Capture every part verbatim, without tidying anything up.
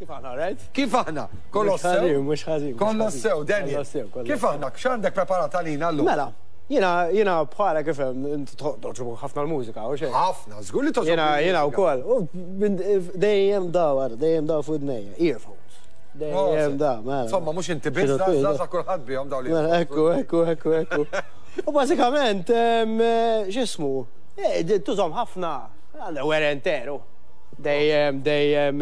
Kif aħna, right? Kif aħna? Kollox sew? Mhux ħażin. Kollox sew, Daniel. Kif aħna? X'għandek preparat għalina llum? Mela, jiena jiena bħala kif hemm togħġbu ħafna l-mużika u xejn. Ħafna, żgur li togħġbu. Jiena jiena wkoll. Dejjem dawar, dejjem daw fuq idnejja, earphones. Dejjem da, mela. Insomma, mhux inti biss, żgħażagħ kulħadd bihom dawn li. Mela, ekku, ekku, ekku, ekku. U bażikament, x'ismu? Tużhom ħafna, għandha werenteru. Dejjem, dejjem,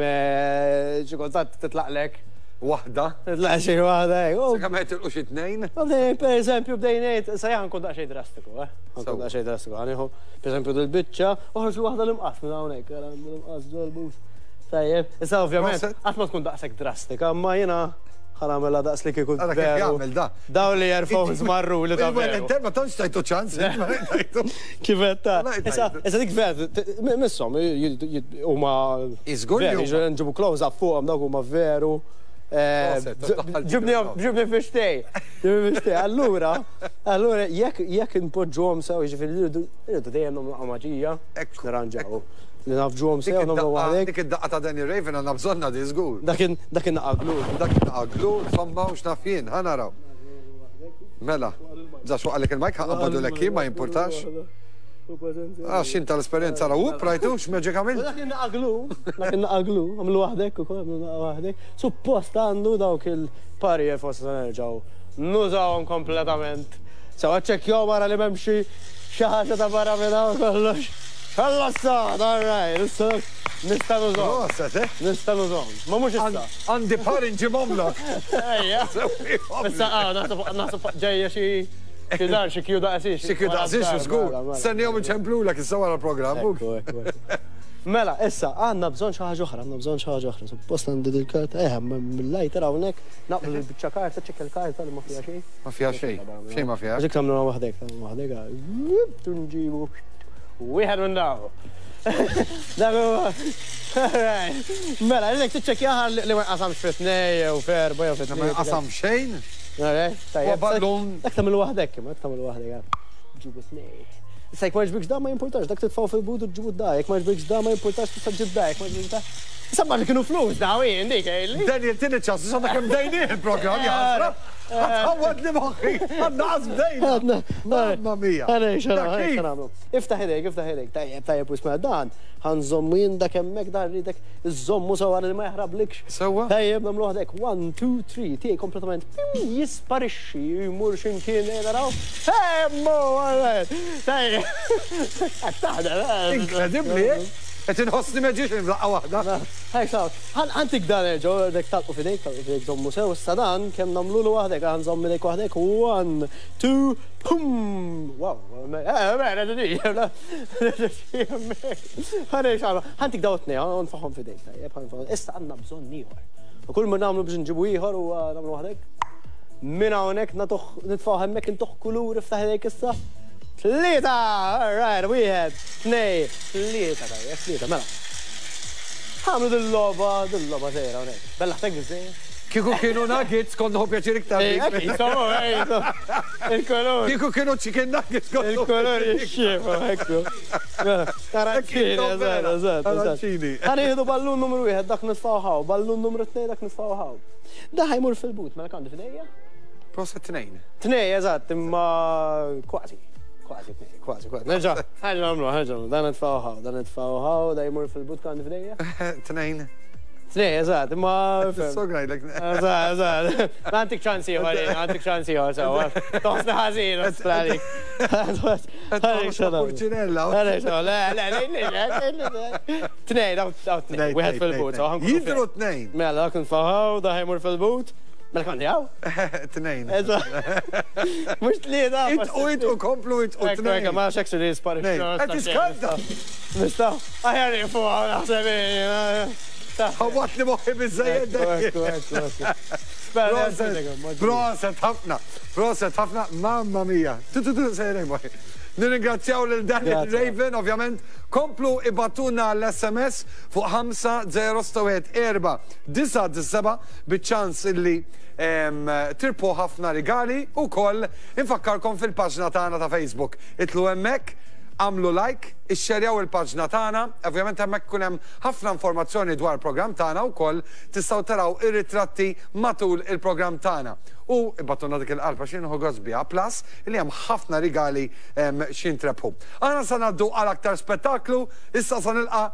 xi kultant titlaqlek. Waħda? Titlaq xi waħda, hekk. Sakemm ma jitilqux it-tnejn? Per eżempju, bdejn sa ħa nkun daqsxejn drastiku, eh? Ħa nkun daqsxejn drastiku, ħa nieħu, per eżempju, dil-biċċa, uħroġ waħda l-imqas minn hawnhekk, l-imqas ġol-but. Tajjeb, issa ovvjament, qatt ma tkun daqshekk drastika, imma jiena ħa nagħmilha daqs li kieku veru. Dawn li earphones marru li ta' veru. Ma tantx tajtu ċans. Kif qed ta' Issa issa dik veru, misshom huma Iżgur li nġibu close up fuqhom dawk huma veru. Ġibni ġibni fixtej. Ġibni fixtej. Allura, allura jekk jekk inpoġġuhom sew, jiġifieri rridu dejjem nagħmlu maġija Ekku, nirranġaw. Li nafġuhom sew nagħmlu waħdek. Dik id-daqqa ta' Danny Raven għandna bżonna di żgur. Dakin dakin naqaglu. Dak naqaglu, insomma, u x'naf jien, ħa naraw. Mela, żax waqalek il-mic, ħa nqabbadu lek ma jimpurtax. Għax inta l-esperjenza ra, up, rajtu, x'maġik għamil? Dak naqaglu, dak naqaglu, għamlu waħdek ukoll, għamlu waħdek. Suppost għandu dawk il-pari forsi se nerġgħu nużawhom kompletament. Sewa ċekkjaw wara li m'hemm xi xi ħaġa ta' barra minn hawn kollox. Kollox sod, all right, issa nista' nużahom. Proset, eh? Nista' nużahom. Ma mhux issa. Għandi par inġibhomlok. Ejja. Issa ah, naħseb naħseb ġejja xi xi dar xi kju daqsix. Xi kju daqsix, żgur. Stennihom iċemplulek issa wara l-programm. Ekku, ekku, ekku. Mela, issa, għandna bżonn xi ħaġa oħra, għandna bżonn xi ħaġa oħra. Suppost għandi dil-karta, eh, mill-lighter hawnhekk, naqblu l-biċċa karta, ċekk il-karta li ma fiha xejn. Ma fiha xejn, xejn ma fiha. Ġik tagħmlu waħdek, tagħmlu waħdek, tunġibu. Wieħed minn daw. Dak huwa. Alright. Mela, ilek tiċċekkjaha li ma jqasamx fi tnej jew f'erba' jew fi Ma jqasam xejn. Alright, tajjeb. U ballun. Dak tagħmlu waħdek, imma dak tagħmlu waħdek. Ġibu tnej. Issa jekk ma jġbikx da ma jimpurtax, dak titfgħu fil-bud u ġibu da, jekk ma jġbikx da ma jimpurtax tista' ġib da, jekk ma jġbikx da. Issa ma li kienu flus da, jien dik li. Daniel, tini ċans, għandna kemm bdejnieh il-programm, jaħasra. Għawad li moħħi, għadna għaz bdejna. Mamma mia. Għana, xana, Dak kif? xana. Iftaħ idejk, iftaħ idejk. Tajjeb, tajjeb, u isma' dan. Ħa nżommu jien dak hemmhekk dan rridek iżommu sewwa li ma jaħrablikx. Sewwa? Tajjeb, nagħmlu waħdek. One, two, three. Tiegħi kompletament pim, jisparixxi, jmur x'imkien naraw. Hemmu, alright. Tajjeb. Qed taħdem, eh? Inkredibbli, eh? Qed inħossni magician f'daqqa waħda. Hej, saw, għantik dan erġgħu, dek talqu fidejk, talqu fidejk żommu sew, issa dan kemm nagħmlu waħdek, ħa nżomm idejk waħdek, one, two, pum! Wow, eh, mela, di, ħanej xagħlu, ħantik daw tnej, nfaħom fidejk, tajjeb, ħanfaħom. Issa għandna bżonn ieħor. U kull ma nagħmlu biex nġibu ieħor u nagħmlu waħdek. Minn hawnhekk natuh nitfgħu hemmhekk intuħ kulur iftaħ idejk issa. Tlieta! All right, wieħed, tnej, tlieta, tajjeb, tlieta, mela. Ħamlu dil-logħba, dil-logħba sejra hawnhekk. Bella ħtek biżejjed. Kieku kienu nuggets, kont nieħu pjaċir iktar. Ej, bik. insomma, ej, il-kolor. Kieku kienu chicken nuggets, kont nieħu Il-kolor pjaċir iktar. jixxiefu, ekku. Arancini, eżatt, eżatt, eżatt. Arancini. Ħa nieħdu ballun numru wieħed, dak nitfgħu hawn, ballun numru tnej, dak nitfgħu hawn. Da ħa jmur fil-but, mela għandi f'idejja? Proset tnejn. Tnej, eżatt, imma kważi. Kważi, tnej, kważi, kważi. Nerġa', ħa nagħmlu, ħa nagħmlu, dan nitfgħu hawn, dan nitfgħu hawn, da jmur fil-but għandi f'idejja? Tnejn. Tnej, eżatt, imma. Sograjlek. Eżatt, eżatt. Għantik ċans ieħor, għantik ċans ieħor, sewa. Toħsna ħażin, għalik. Purċinella. Le, le, le, le, le. Tnej, daw daw tnej, wieħed fil-but. so ħankunu Jidru fair. tnejn. Mela, dak nfaħaw, da ħajmur fil-but. Mela kont jaw? Tnejn. Eżatt. Mhux tlieta. Itqu, itqu, komplu, itqu, Ekku, ekku, tnejn. ma xek li jisparixxu. Tnejn. Qed tiskanta. Nistgħu, aħjar nieqfu hawn naħseb. Ħawat li moħħi biżejjed. Ekku, ekku, ekku. Proset, proset ħafna, proset ħafna, mamma mia. Tu tu tu sejrejn moħħi. Nirringrazzjaw lil Daniel Grazie. Raven, ovvjament, komplu ibgħatulna l-SMS fuq ħamsa żero sitta erba' disa' seba' biċ-ċans illi em, tirbħu ħafna rigali u koll infakkarkom fil-paġna tagħna ta' Facebook. Itilgħu hemmhekk, Għamlu like, ixxerjaw il-paġna tagħna, ovvjament hemmhekk ikun hemm ħafna informazzjoni dwar il-programm tagħna wkoll tistgħu taraw ir-ritratti matul il-programm tagħna. U ibagħtulna dik il-qalb għax nieħu gost biha, plus li hemm ħafna rigali x'jintrebħu. Aħna sa ngħaddu għal aktar spettaklu, issa sa nilqa'